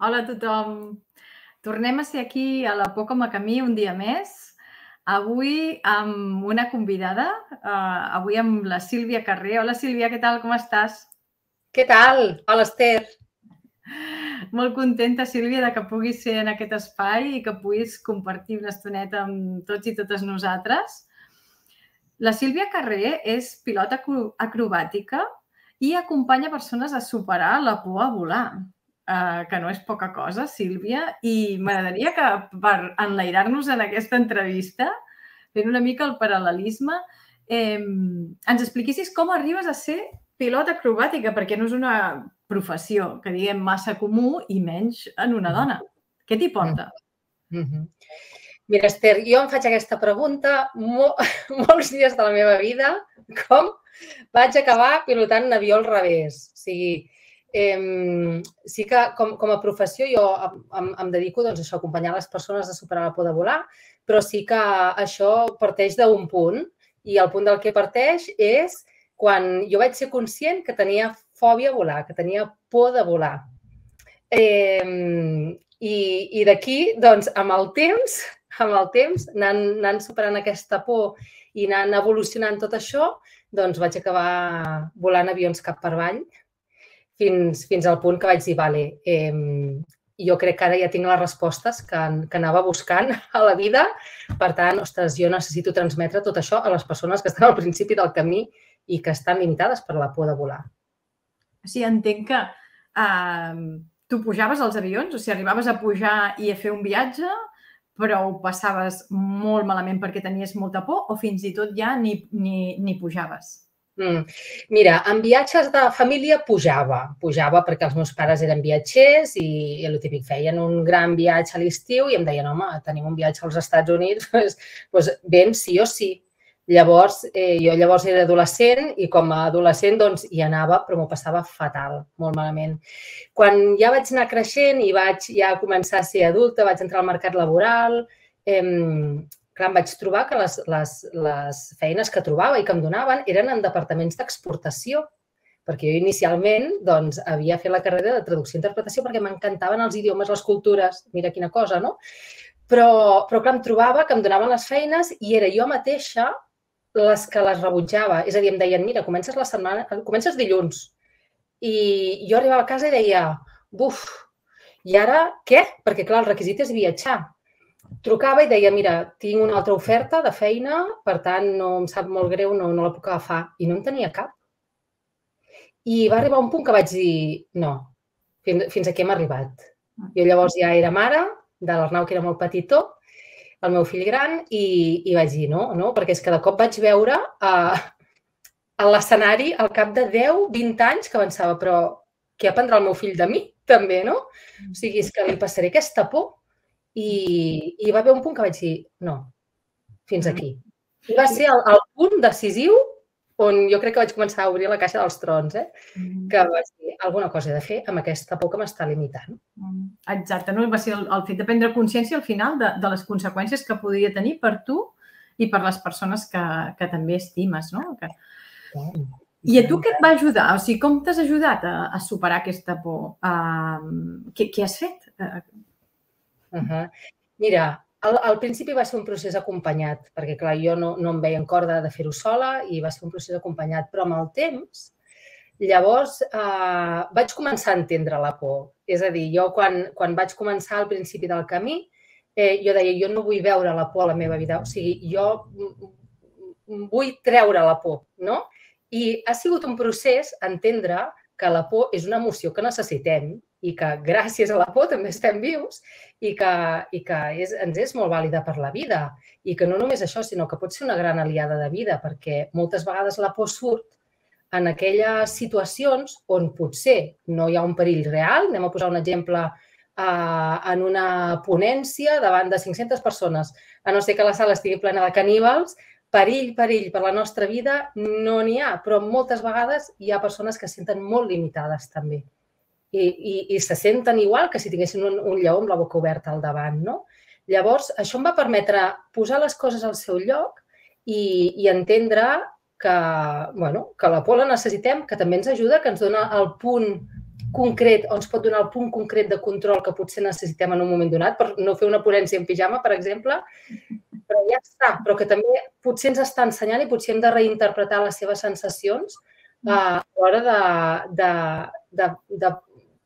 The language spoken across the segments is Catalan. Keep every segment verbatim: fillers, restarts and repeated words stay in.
Hola a tothom. Tornem a ser aquí a la Por com a camí un dia més. Avui amb una convidada, eh, avui amb la Sílvia Carré. Hola Sílvia, què tal? Com estàs? Què tal? Hola Esther. Molt contenta, Sílvia, de que puguis ser en aquest espai i que puguis compartir una estoneta amb tots i totes nosaltres. La Sílvia Carré és pilota acrobàtica i acompanya persones a superar la por a volar. Uh, que no és poca cosa, Sílvia, i m'agradaria que per enlairar-nos en aquesta entrevista, fent una mica el paral·lelisme, eh, ens expliquessis com arribes a ser pilot acrobàtica, perquè no és una professió que diguem massa comú i menys en una dona. Què t'hi porta? Mm-hmm. Mira, Esther, jo em faig aquesta pregunta mo molts dies de la meva vida, com vaig acabar pilotant un avió al revés. O sigui, Eh, sí que com, com a professió jo em, em dedico doncs, a acompanyar les persones a superar la por de volar, però sí que això parteix d'un punt i el punt del que parteix és quan jo vaig ser conscient que tenia fòbia a volar, que tenia por de volar. Eh, I i d'aquí, doncs, amb el temps, amb el temps, anant, anant superant aquesta por i anant evolucionant tot això, doncs vaig acabar volant avions cap per avall, Fins, fins al punt que vaig dir, vale, eh, jo crec que ara ja tinc les respostes que, que anava buscant a la vida. Per tant, ostres, jo necessito transmetre tot això a les persones que estan al principi del camí i que estan limitades per la por de volar. O sigui, entenc que eh, tu pujaves als avions, o sigui, arribaves a pujar i a fer un viatge, però ho passaves molt malament perquè tenies molta por o fins i tot ja ni, ni, ni pujaves? Mm. Mira, en viatges de família pujava, pujava perquè els meus pares eren viatgers i, i el típic feien un gran viatge a l'estiu i em deien, home, tenim un viatge als Estats Units, doncs, doncs ben sí o sí. Llavors, eh, jo llavors era adolescent i com a adolescent doncs hi anava, però m'ho passava fatal, molt malament. Quan ja vaig anar creixent i vaig ja començar a ser adulta, vaig entrar al mercat laboral, eh, clar, em vaig trobar que les, les, les feines que trobava i que em donaven eren en departaments d'exportació, perquè jo inicialment doncs, havia fet la carrera de traducció i interpretació perquè m'encantaven els idiomes, les cultures, mira quina cosa, no? Però, però clar, em trobava que em donaven les feines i era jo mateixa les que les rebutjava. És a dir, em deien, mira, comences la setmana, comences dilluns. I jo arribava a casa i deia, buf, i ara què? Perquè clar, el requisit és viatjar. Trucava i deia, mira, tinc una altra oferta de feina, per tant, no em sap molt greu, no, no la puc agafar. I no en tenia cap. I va arribar un punt que vaig dir, no, fins, fins aquí hem arribat. Jo llavors ja era mare de l'Arnau, que era molt petitó, el meu fill gran, i, i vaig dir, no, no, perquè és que de cop vaig veure uh, a l'escenari al cap de deu, vint anys que pensava, però què aprendrà el meu fill de mi, també, no? O sigui, és que li passaré aquesta por. I, i va haver un punt que vaig dir, no, fins aquí. I va ser el, el punt decisiu on jo crec que vaig començar a obrir la caixa dels trons, eh? Que vaig dir, alguna cosa he de fer amb aquesta por que m'està limitant. Exacte, no? Va ser el, el fet de prendre consciència al final de, de les conseqüències que podria tenir per tu i per les persones que, que també estimes, no? Que... I a tu què et va ajudar? O sigui, com t'has ajudat a, a superar aquesta por? Uh, què, què has fet? Uh, Uh -huh. Mira, al, al principi va ser un procés acompanyat, perquè clar, jo no, no em veia en corda de fer-ho sola i va ser un procés acompanyat, però amb el temps, llavors eh, vaig començar a entendre la por. És a dir, jo quan, quan vaig començar al principi del camí, eh, jo deia, jo no vull veure la por a la meva vida, o sigui, jo vull treure la por, no? I ha sigut un procés entendre que la por és una emoció que necessitem i que gràcies a la por també estem vius i que, i que és, ens és molt vàlida per la vida. I que no només això, sinó que pot ser una gran aliada de vida, perquè moltes vegades la por surt en aquelles situacions on potser no hi ha un perill real. Anem a posar un exemple eh, en una ponència davant de cinc-centes persones. A no ser que la sala estigui plena de caníbals, perill, perill per la nostra vida no n'hi ha, però moltes vegades hi ha persones que es senten molt limitades també. I, i, i se senten igual que si tinguessin un, un lleó amb la boca oberta al davant, no? Llavors, això em va permetre posar les coses al seu lloc i, i entendre que, bueno, que la por la necessitem, que també ens ajuda, que ens dona el punt concret, o ens pot donar el punt concret de control que potser necessitem en un moment donat, per no fer una ponència en pijama, per exemple, però ja està, però que també potser ens està ensenyant i potser hem de reinterpretar les seves sensacions a l'hora de, de, de, de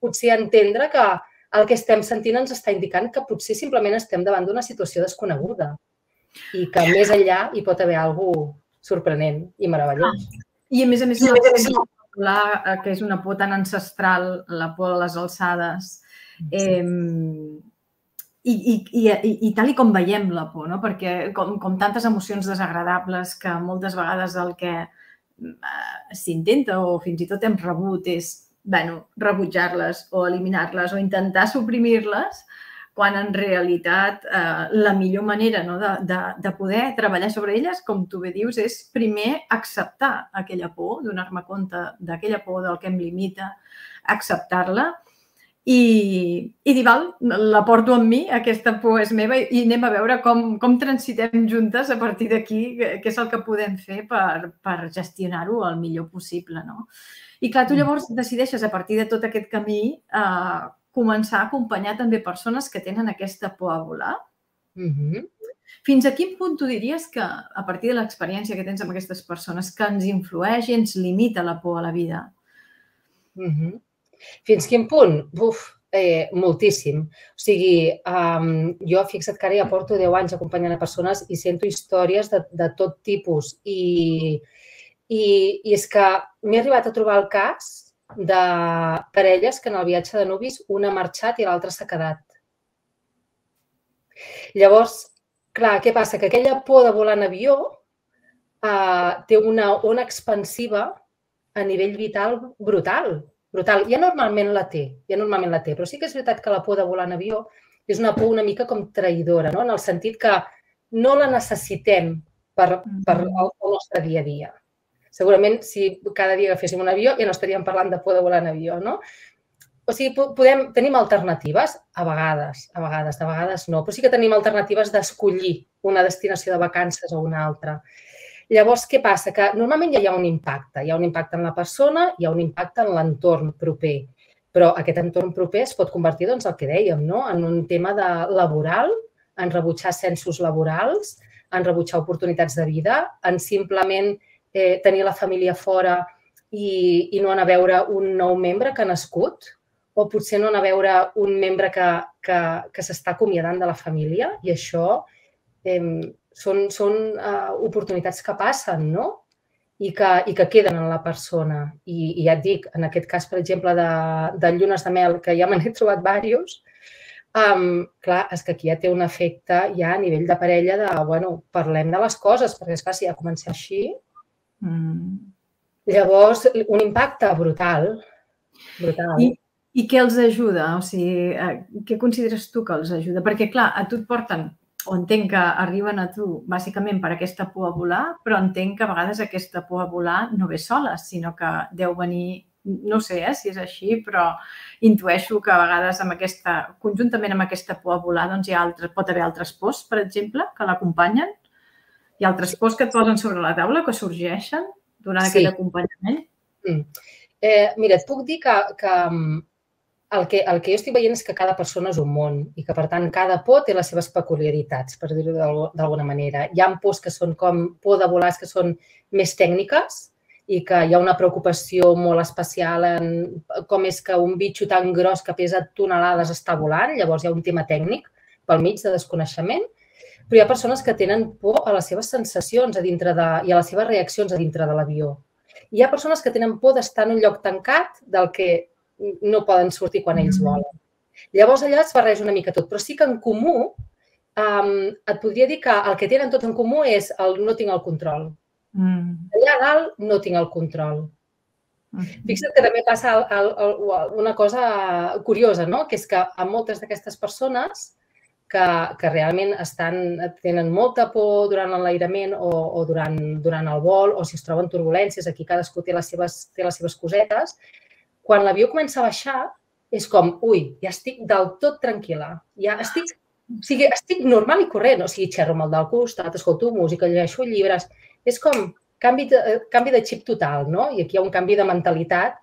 potser entendre que el que estem sentint ens està indicant que potser simplement estem davant d'una situació desconeguda i que més enllà hi pot haver alguna cosa sorprenent i meravellós. I a més a més, la por, que és una por tan ancestral, la por a les alçades, eh, i, i, i, i tal i com veiem la por, no? Perquè com, com tantes emocions desagradables que moltes vegades el que s'intenta o fins i tot hem rebut és bueno, rebutjar-les o eliminar-les o intentar suprimir-les, quan en realitat eh, la millor manera no, de, de, de poder treballar sobre elles, com tu bé dius, és primer acceptar aquella por, donar-me compte d'aquella por, del que em limita, acceptar-la i, i dir, val, la porto amb mi, aquesta por és meva i anem a veure com, com transitem juntes a partir d'aquí, què és el que podem fer per, per gestionar-ho el millor possible, no? I clar, tu llavors decideixes a partir de tot aquest camí eh, començar a acompanyar també persones que tenen aquesta por a volar. Mm-hmm. Fins a quin punt tu diries que, a partir de l'experiència que tens amb aquestes persones, que ens influeix i ens limita la por a la vida? Mm-hmm. Fins quin punt? Uf, eh, moltíssim. O sigui, um, jo fixa't que ara ja porto deu anys acompanyant a persones i sento històries de, de tot tipus. I, i, i és que m'he arribat a trobar el cas de parelles que en el viatge de nuvis una ha marxat i l'altra s'ha quedat. Llavors, clar, què passa? Que aquella por de volar en avió eh, té una ona expansiva a nivell vital brutal. brutal. Ja normalment la té, ja normalment la té, però sí que és veritat que la por de volar en avió és una por una mica com traïdora, no? En el sentit que no la necessitem per, per el nostre dia a dia. Segurament, si cada dia agaféssim un avió, ja no estaríem parlant de por de volar en avió, no? O sigui, podem, tenim alternatives, a vegades, a vegades, de vegades no, però sí que tenim alternatives d'escollir una destinació de vacances o una altra. Llavors, què passa? Que normalment ja hi ha un impacte. Hi ha un impacte en la persona, hi ha un impacte en l'entorn proper. Però aquest entorn proper es pot convertir, doncs, el que dèiem, no? En un tema de laboral, en rebutjar ascensos laborals, en rebutjar oportunitats de vida, en simplement Eh, tenir la família fora i, i no anar a veure un nou membre que ha nascut, o potser no anar a veure un membre que, que, que s'està acomiadant de la família, i això eh, són, són eh, oportunitats que passen, no? I que, i que queden en la persona. I, i ja et dic, en aquest cas, per exemple, de, de llunes de mel, que ja me n'he trobat diversos, um, clar, és que aquí ja té un efecte ja a nivell de parella de, bueno, parlem de les coses, perquè és clar, si ja comença així, Mm. llavors, un impacte brutal. brutal. I, I què els ajuda? O sigui, què consideres tu que els ajuda? Perquè, clar, a tu et porten, o entenc que arriben a tu bàsicament per aquesta por a volar, però entenc que a vegades aquesta por a volar no ve sola, sinó que deu venir, no sé eh, si és així, però intueixo que a vegades amb aquesta, conjuntament amb aquesta por a volar, doncs hi ha altres, pot haver altres pors, per exemple, que l'acompanyen. Hi ha altres pors que et posen sobre la taula, que sorgeixen durant sí. aquest acompanyament? Mm. Eh, mira, et puc dir que, que, el que el que jo estic veient és que cada persona és un món i que, per tant, cada por té les seves peculiaritats, per dir-ho d'alguna manera. Hi ha pors que són com por de volar, que són més tècniques i que hi ha una preocupació molt especial en com és que un bitxo tan gros que pesa tonelades està volant. Llavors, hi ha un tema tècnic pel mig de desconeixement. Però hi ha persones que tenen por a les seves sensacions a dintre de, i a les seves reaccions a dintre de l'avió. Hi ha persones que tenen por d'estar en un lloc tancat del que no poden sortir quan ells volen. Llavors, allà es barreja una mica tot. Però sí que en comú, um, et podria dir que el que tenen tots en comú és el no tinc el control. Mm. Allà dalt no tinc el control. Mm. Fixa't que també passa el, el, el, una cosa curiosa, no? Que és que a moltes d'aquestes persones Que, que realment estan, tenen molta por durant l'enlairament o, o durant, durant el vol, o si es troben turbulències, aquí cadascú té les seves, té les seves cosetes. Quan l'avió comença a baixar, és com, ui, ja estic del tot tranquil·la. Ja estic, o sigui, estic normal i corrent. O sigui, xerro amb el del costat, escolto música, llegeixo llibres. És com canvi de, canvi de xip total, no? I aquí hi ha un canvi de mentalitat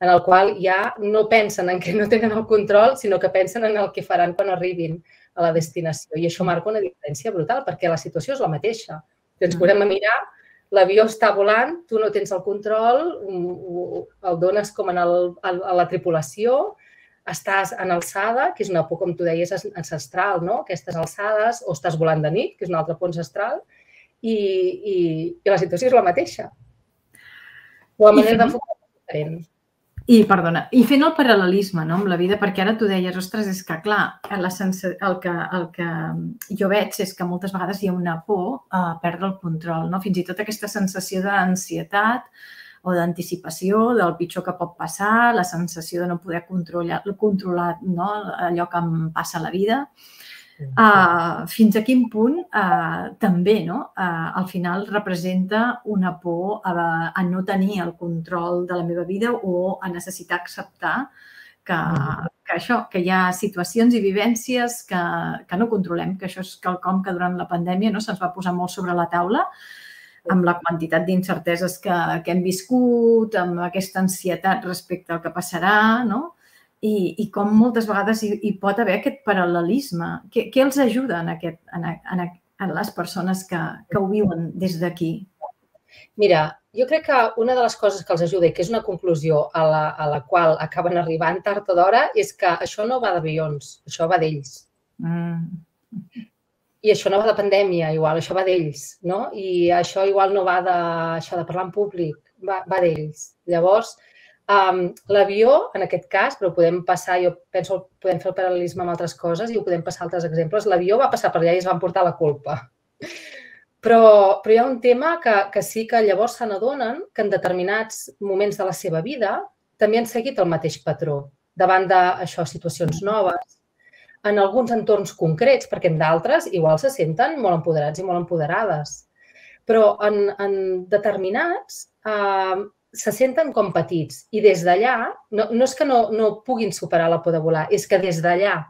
en el qual ja no pensen en que no tenen el control, sinó que pensen en el que faran quan arribin a la destinació. I això marca una diferència brutal, perquè la situació és la mateixa. Ens podem mirar, l'avió està volant, tu no tens el control, el dones com a la tripulació, estàs en alçada, que és una por, com tu deies, ancestral, no? Aquestes alçades, o estàs volant de nit, que és una altra por ancestral, i la situació és la mateixa. La manera d'enfocar és diferent. I, perdona, i fent el paral·lelisme amb la vida, perquè ara tu deies, ostres, és que, clar, el que jo veig és que moltes vegades hi ha una por a perdre el control, fins i tot aquesta sensació d'ansietat o d'anticipació del pitjor que pot passar, la sensació de no poder controlar allò que em passa a la vida. Fins a quin punt també al final representa una por a no tenir el control de la meva vida o a necessitar acceptar que hi ha situacions i vivències que no controlem, que això és quelcom que durant la pandèmia se'ns va posar molt sobre la taula, amb la quantitat d'incerteses que hem viscut, amb aquesta ansietat respecte al que passarà, no? I com moltes vegades hi pot haver aquest paral·lelisme. Què els ajuda a les persones que ho viuen des d'aquí? Mira, jo crec que una de les coses que els ajuda i que és una conclusió a la qual acaben arribant tard o d'hora és que això no va d'avions, això va d'ells. I això no va de pandèmia, igual, això va d'ells, no? I això igual no va de parlar en públic, va d'ells. Llavors, l'avió, en aquest cas, però podem passar, jo penso que podem fer el paral·lelisme amb altres coses i ho podem passar a altres exemples, l'avió va passar per allà i es van portar la culpa. Però hi ha un tema que sí que llavors se n'adonen que en determinats moments de la seva vida també han seguit el mateix patró davant d'això, situacions noves, en alguns entorns concrets, perquè en d'altres igual se senten molt empoderats i molt empoderades. Però en determinats se senten com petits i des d'allà, no és que no puguin superar la por de volar, és que des d'allà,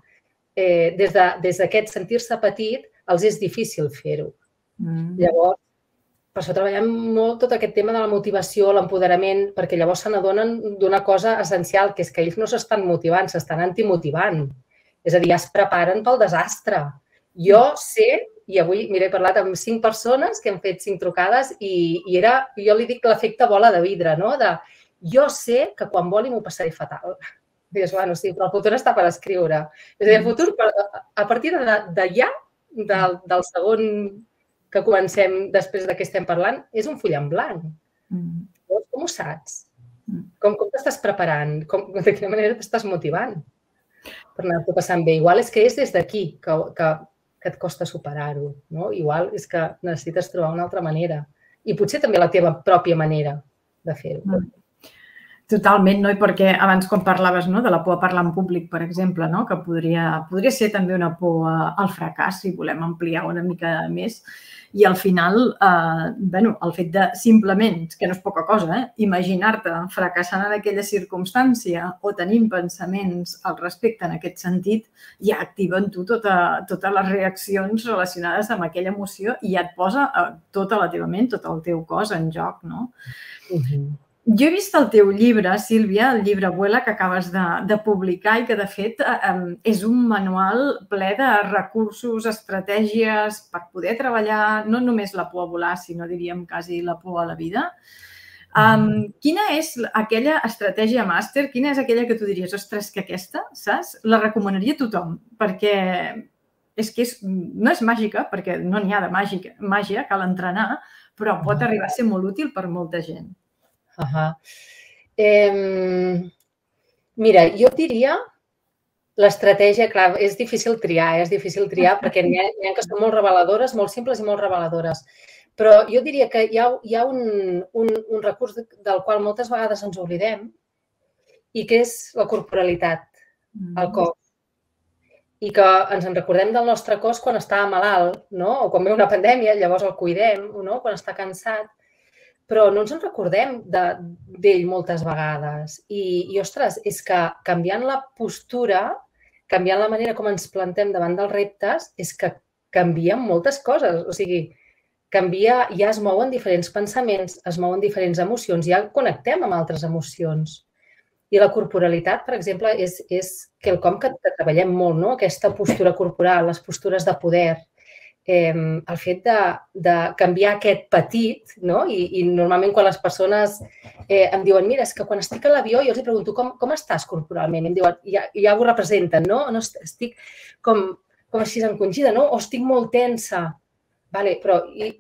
des d'aquest sentir-se petit, els és difícil fer-ho. Llavors, per això treballem molt tot aquest tema de la motivació, l'empoderament, perquè llavors se n'adonen d'una cosa essencial, que és que ells no s'estan motivant, s'estan antimotivant. És a dir, ja es preparen pel desastre. Jo sé, i avui, mira, he parlat amb cinc persones que han fet cinc trucades i era, jo li dic l'efecte bola de vidre, no? De, jo sé que quan voli m'ho passaré fatal. Dius, bueno, sí, però el futur està per escriure. És a dir, el futur, a partir d'allà, del segon que comencem després de què estem parlant, és un full en blanc. Com ho saps? Com t'estàs preparant? De quina manera t'estàs motivant per anar-t'ho passant bé? Igual és que és des d'aquí que et costa superar-ho. Igual és que necessites trobar una altra manera. I potser també la teva pròpia manera de fer-ho. Totalment, no? I perquè abans quan parlaves de la por a parlar en públic, per exemple, que podria ser també una por al fracàs, si volem ampliar una mica més, i al final, el fet de simplement, que no és poca cosa, imaginar-te fracassant en aquella circumstància o tenint pensaments al respecte en aquest sentit, ja activa en tu totes les reaccions relacionades amb aquella emoció i ja et posa tota la teva ment, tot el teu cos en joc, no? Jo he vist el teu llibre, Sílvia, el llibre Vuela, que acabes de publicar i que, de fet, és un manual ple de recursos, estratègies per poder treballar no només la por a volar, sinó, diríem, quasi la por a la vida. Quina és aquella estratègia màster? Quina és aquella que tu diries, ostres, que aquesta, saps? La recomanaria a tothom, perquè és que no és màgica, perquè no n'hi ha de màgia, cal entrenar, però pot arribar a ser molt útil per molta gent. Mira, jo et diria l'estratègia, clar, és difícil triar, és difícil triar perquè n'hi ha que són molt reveladores, molt simples i molt reveladores. Però jo diria que hi ha un recurs del qual moltes vegades ens oblidem i que és la corporalitat, el cos. I que ens en recordem del nostre cos quan està malalt, o quan ve una pandèmia, llavors el cuidem, quan està cansat. Però no ens en recordem d'ell moltes vegades. I, ostres, és que canviant la postura, canviant la manera com ens plantem davant dels reptes, és que canvien moltes coses. O sigui, canvia, ja es mouen diferents pensaments, es mouen diferents emocions, ja connectem amb altres emocions. I la corporalitat, per exemple, és, és quelcom que, que treballem molt, no? Aquesta postura corporal, les postures de poder, eh, el fet de, de canviar aquest petit, no? I, i normalment quan les persones eh, em diuen, mira, és que quan estic a l'avió jo els pregunto com, com estàs corporalment? I em diuen, ja, ja ho representen, no? no estic com, com així encongida, no? O estic molt tensa. Vale, però i,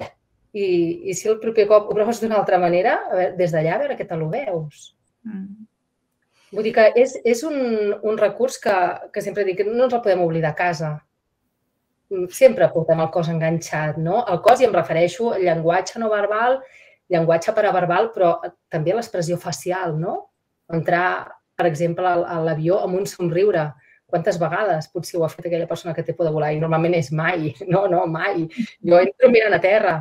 i, i si el proper cop ho proves d'una altra manera, a veure, des d'allà a veure què te lo veus. Mm. Vull dir que és, és un, un recurs que, que sempre dic que no ens el podem oblidar a casa. Sempre portem el cos enganxat, no? El cos, i em refereixo al llenguatge no verbal, llenguatge paraverbal, però també l'expressió facial, no? Entrar, per exemple, a l'avió amb un somriure. Quantes vegades potser ho ha fet aquella persona que té por de volar? I normalment és mai. No, no, mai. Jo entro mirant a terra.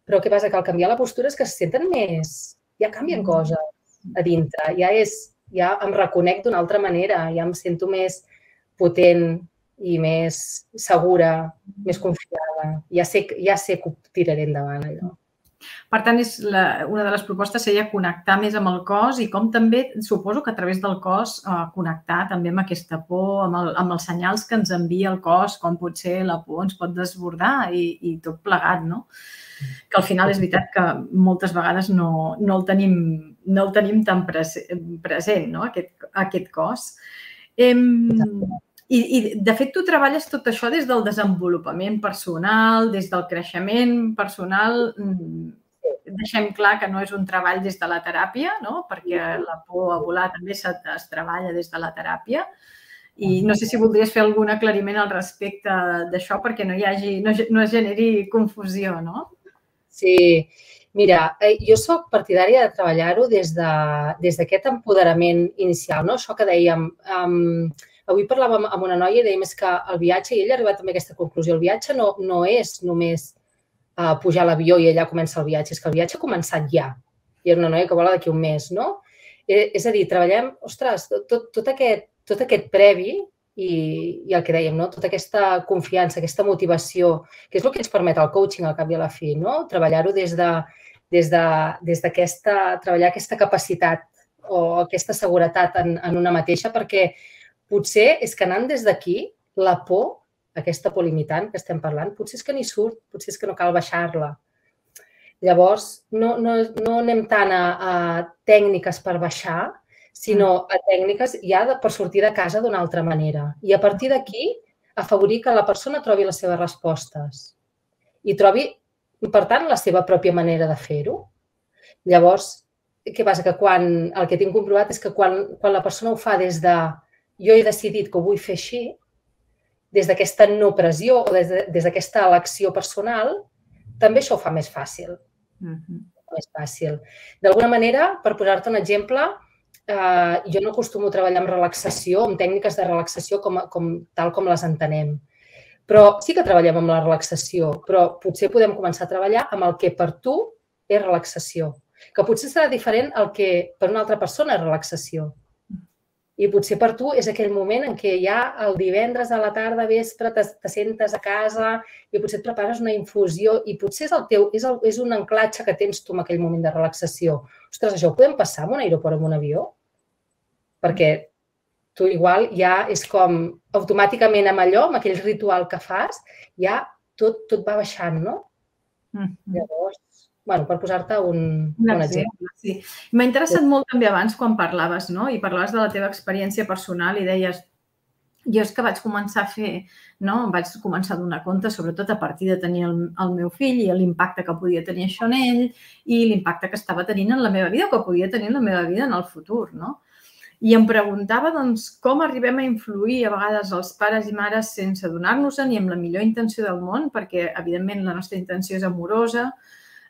Però què passa? Que al canviar la postura és que se senten més... Ja canvien coses a dintre. Ja és... ja em reconec d'una altra manera, ja em sento més potent i més segura, més confiada. Ja sé, ja sé que ho tiraré endavant, allò. Per tant, és la, una de les propostes seria connectar més amb el cos i com també, suposo que a través del cos, eh, connectar també amb aquesta por, amb, el, amb els senyals que ens envia el cos, com potser la por ens pot desbordar i, i tot plegat, no? Que al final és veritat que moltes vegades no, no, el, tenim, no el tenim tan present, no? aquest, aquest cos. Em, i, I, de fet, tu treballes tot això des del desenvolupament personal, des del creixement personal. Deixem clar que no és un treball des de la teràpia, no? Perquè la por a volar també es, es treballa des de la teràpia. I no sé si voldries fer algun aclariment al respecte d'això perquè no hi hagi, no, no es generi confusió, no? Sí, mira, jo soc partidària de treballar-ho des d'aquest empoderament inicial, no? Això que dèiem, um, avui parlàvem amb una noia i dèiem que el viatge, i ella ha arribat també a aquesta conclusió, el viatge no, no és només uh, pujar a l'avió i allà comença el viatge, és que el viatge ha començat ja. I és una noia que vola d'aquí un mes, no? Eh, és a dir, treballem, ostres, tot, tot, aquest, tot aquest previ i, i el que dèiem, no? Tota aquesta confiança, aquesta motivació, que és el que ens permet el coaching al cap i a la fi, no? Treballar-ho des de, des de, des d'aquesta, treballar aquesta capacitat o aquesta seguretat en, en una mateixa, perquè potser és que anant des d'aquí, la por, aquesta por limitant que estem parlant, potser és que ni surt, potser és que no cal baixar-la. Llavors, no, no, no anem tant a, a tècniques per baixar, sinó a tècniques ja de, per sortir de casa d'una altra manera. I a partir d'aquí, afavorir que la persona trobi les seves respostes i trobi, per tant, la seva pròpia manera de fer-ho. Llavors, què passa? Que quan, el que tinc comprovat és que quan, quan la persona ho fa des de jo he decidit que ho vull fer així, des d'aquesta no pressió o des, de, des d'aquesta elecció personal, també això ho fa més fàcil. Mm-hmm. Més fàcil. D'alguna manera, per posar-te un exemple, Uh, jo no acostumo a treballar amb relaxació, amb tècniques de relaxació com, com, tal com les entenem. Però sí que treballem amb la relaxació, però potser podem començar a treballar amb el que per tu és relaxació, que potser serà diferent el que per una altra persona és relaxació. I potser per tu és aquell moment en què ja el divendres a la tarda, vespre, te, te sentes a casa i potser et prepares una infusió i potser és, el teu, és, el, és un anclatge que tens tu en aquell moment de relaxació. Ostres, això ho podem passar en un aeroport o en un avió? Perquè tu igual ja és com automàticament amb allò, amb aquell ritual que fas, ja tot, tot va baixant, no? Mm-hmm. Llavors, bueno, per posar-te un, un, un exemple. Sí. M'ha interessat molt també abans quan parlaves, no? I parlaves de la teva experiència personal i deies, jo és que vaig començar a fer, no? Vaig començar a donar compte, sobretot a partir de tenir el, el meu fill i l'impacte que podia tenir això en ell i l'impacte que estava tenint en la meva vida o que podia tenir en la meva vida en el futur, no? I em preguntava, doncs, com arribem a influir a vegades els pares i mares sense adonar-nos-en i amb la millor intenció del món, perquè, evidentment, la nostra intenció és amorosa,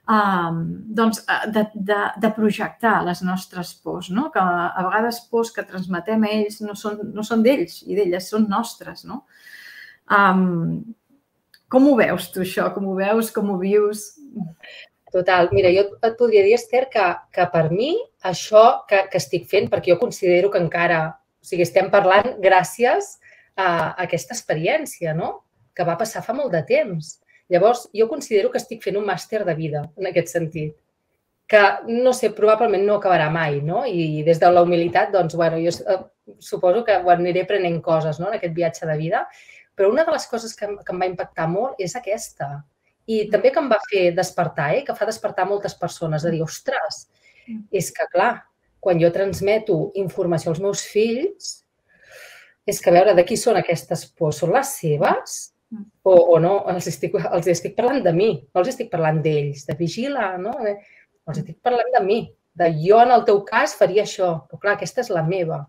um, doncs, de, de, de projectar les nostres pors, no? Que a vegades pors que transmetem a ells no són, no són d'ells i d'elles, són nostres, no? Um, com ho veus tu, això? Com ho veus? Com ho vius? Total. Mira, jo et podria dir, Esther, que, que per mi això que, que estic fent, perquè jo considero que encara, o sigui, estem parlant gràcies a aquesta experiència, no? Que va passar fa molt de temps. Llavors, jo considero que estic fent un màster de vida, en aquest sentit. que, no sé, probablement no acabarà mai, no? I des de la humilitat, doncs, bueno, jo suposo que aniré aprenent coses, no?, en aquest viatge de vida, però una de les coses que, que em va impactar molt és aquesta. I també que em va fer despertar, eh? Que fa despertar moltes persones, de dir, ostres, és que, clar, quan jo transmeto informació als meus fills, és que, a veure, de qui són aquestes pors? Són les seves? O, o no? Els estic, els estic parlant de mi, no els estic parlant d'ells, de vigila, no? Els estic parlant de mi, de jo en el teu cas faria això, però clar, aquesta és la meva.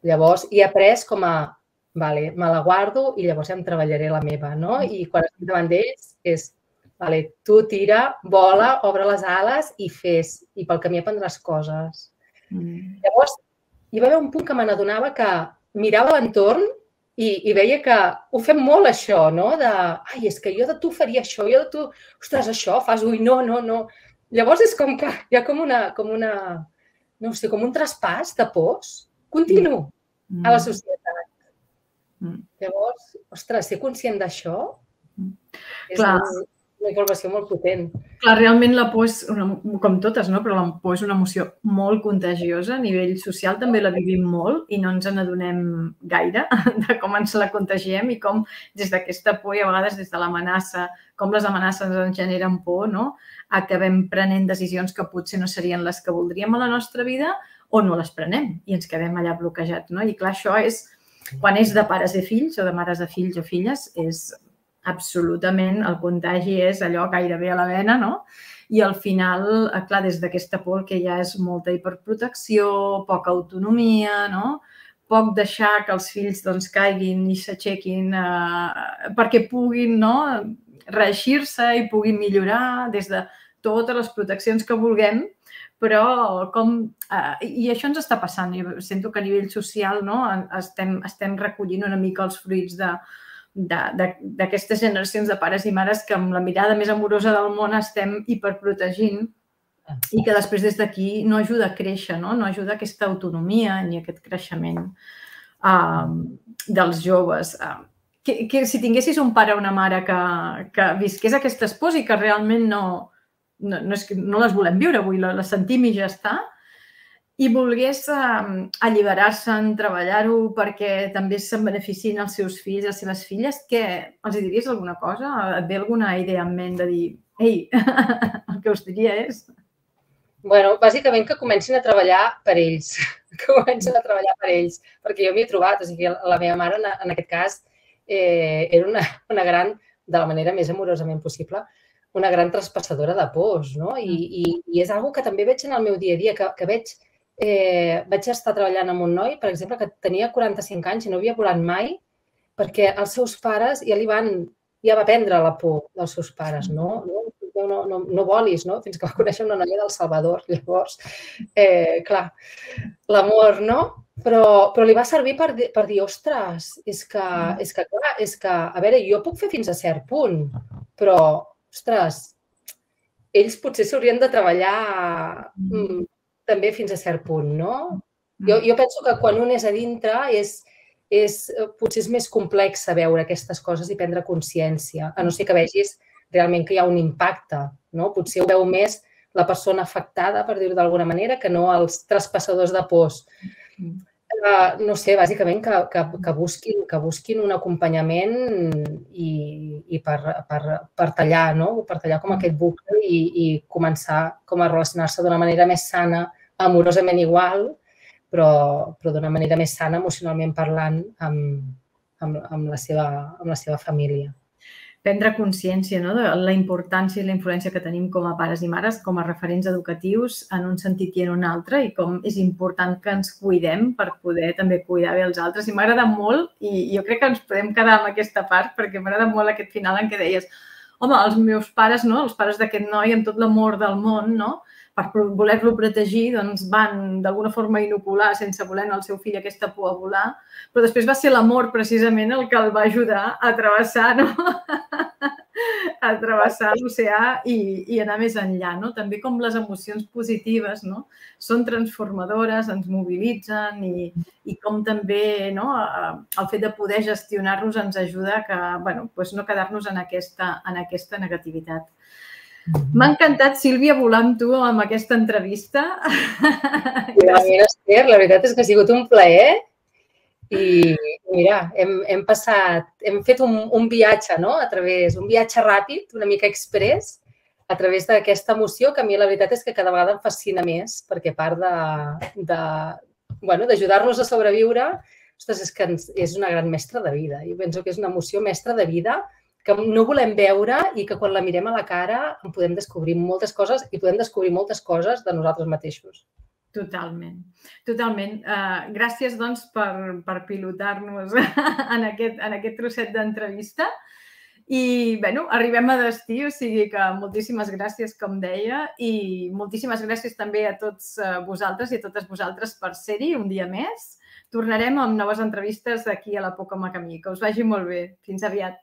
Llavors, he après com a, vale, me la guardo i llavors ja em treballaré la meva, no? I quan estic davant d'ells és, vale, tu tira, vola, obre les ales i fes, i pel camí aprendràs coses. Llavors, hi va haver un punt que me n'adonava que mirava l'entorn i, i veia que ho fem molt, això, no? De, ai, és que jo de tu faria això, jo de tu, ostres, això fas, ui, no, no, no. Llavors és com que hi ha com una, com una, no sé, com un traspàs de pors continu a la societat. Llavors, ostres, ser conscient d'això és una informació molt potent. Clar, realment la por és, com totes, no? Però la por és una emoció molt contagiosa. A nivell social també la vivim molt i no ens n'adonem gaire de com ens la contagiem i com des d'aquesta por i a vegades des de l'amenaça, com les amenaces ens generen por, no? Acabem prenent decisions que potser no serien les que voldríem a la nostra vida o no les prenem i ens quedem allà bloquejats, no? I clar, això és, quan és de pares i fills o de mares de fills o filles, és absolutament, el contagi és allò gairebé a la vena, no? I al final, clar, des d'aquesta por que ja és molta hiperprotecció, poca autonomia, no? Poc deixar que els fills doncs caiguin i s'aixequin perquè puguin, no?, reeixir-se i puguin millorar des de totes les proteccions que vulguem, però com... I això ens està passant. Jo sento que a nivell social estem recollint una mica els fruits d'aquestes generacions de pares i mares que amb la mirada més amorosa del món estem hiperprotegint i que després des d'aquí no ajuda a créixer, no ajuda a aquesta autonomia ni a aquest creixement dels joves. Que si tinguessis un pare o una mare que visqués aquestes pors i que realment no les volem viure avui, les sentim i ja està, i volgués alliberar-se'n, treballar-ho perquè també se'n beneficien els seus fills, les seves filles, què? Els diries alguna cosa? Et ve alguna idea en ment de dir, ei, el que us diria és... Bueno, bàsicament que comencin a treballar per ells, que comencin a treballar per ells, perquè jo m'hi he trobat, o sigui, la meva mare en aquest cas era una gran, de la manera més amorosament possible, una gran traspassadora de pors, no? I és una cosa que també veig en el meu dia a dia, que veig... Vaig estar treballant amb un noi, per exemple, que tenia quaranta-cinc anys i no havia volat mai perquè els seus pares ja li van... ja va prendre la por dels seus pares, no? No volis, no? Fins que va conèixer una noia del Salvador, llavors. Clar, l'amor, no? Però li va servir per dir, ostres, és que, clar, és que, a veure, jo puc fer fins a cert punt, però, ostres, ells potser s'haurien de treballar també fins a cert punt, no? Jo penso que quan un és a dintre potser és més complex veure aquestes coses i prendre consciència, a no ser que vegis realment que hi ha un impacte, no? Potser ho veu més la persona afectada, per dir-ho d'alguna manera, que no els traspassadors de pors. No sé, bàsicament que busquin un acompanyament i per tallar, no? Per tallar com aquest bucle i començar a relacionar-se d'una manera més sana, amorosament igual, però d'una manera més sana, emocionalment parlant, amb la seva família. Prendre consciència de la importància i la influència que tenim com a pares i mares, com a referents educatius en un sentit i en un altre, i com és important que ens cuidem per poder també cuidar bé els altres. I m'agrada molt, i jo crec que ens podem quedar amb aquesta part, perquè m'agrada molt aquest final en què deies, home, els meus pares, els pares d'aquest noi, amb tot l'amor del món, per voler-lo protegir, doncs van d'alguna forma inocular sense voler al seu fill aquesta por a volar, però després va ser l'amor precisament el que el va ajudar a travessar, a travessar l'oceà i anar més enllà. També com les emocions positives són transformadores, ens mobilitzen i com també el fet de poder gestionar-los ens ajuda a no quedar-nos en aquesta negativitat. M'ha encantat, Sílvia, volar amb tu amb aquesta entrevista. Igualment, Esther, la veritat és que ha sigut un plaer i mira, hem, hem passat, hem fet un, un viatge, no? A través, un viatge ràpid, una mica express, a través d'aquesta emoció que a mi la veritat és que cada vegada em fascina més, perquè a part de, de, bueno, d'ajudar-nos a sobreviure, ostres, és que ens, és una gran mestra de vida. Jo penso que és una emoció mestra de vida que no volem veure i que quan la mirem a la cara en podem descobrir moltes coses i podem descobrir moltes coses de nosaltres mateixos. Totalment, totalment. Uh, gràcies, doncs, per, per pilotar-nos en, aquest, en aquest trosset d'entrevista. I, bueno, arribem a destí, o sigui que moltíssimes gràcies, com deia, i moltíssimes gràcies també a tots vosaltres i a totes vosaltres per ser-hi un dia més. Tornarem amb noves entrevistes d'aquí a la poc o camí. Que us vagi molt bé. Fins aviat.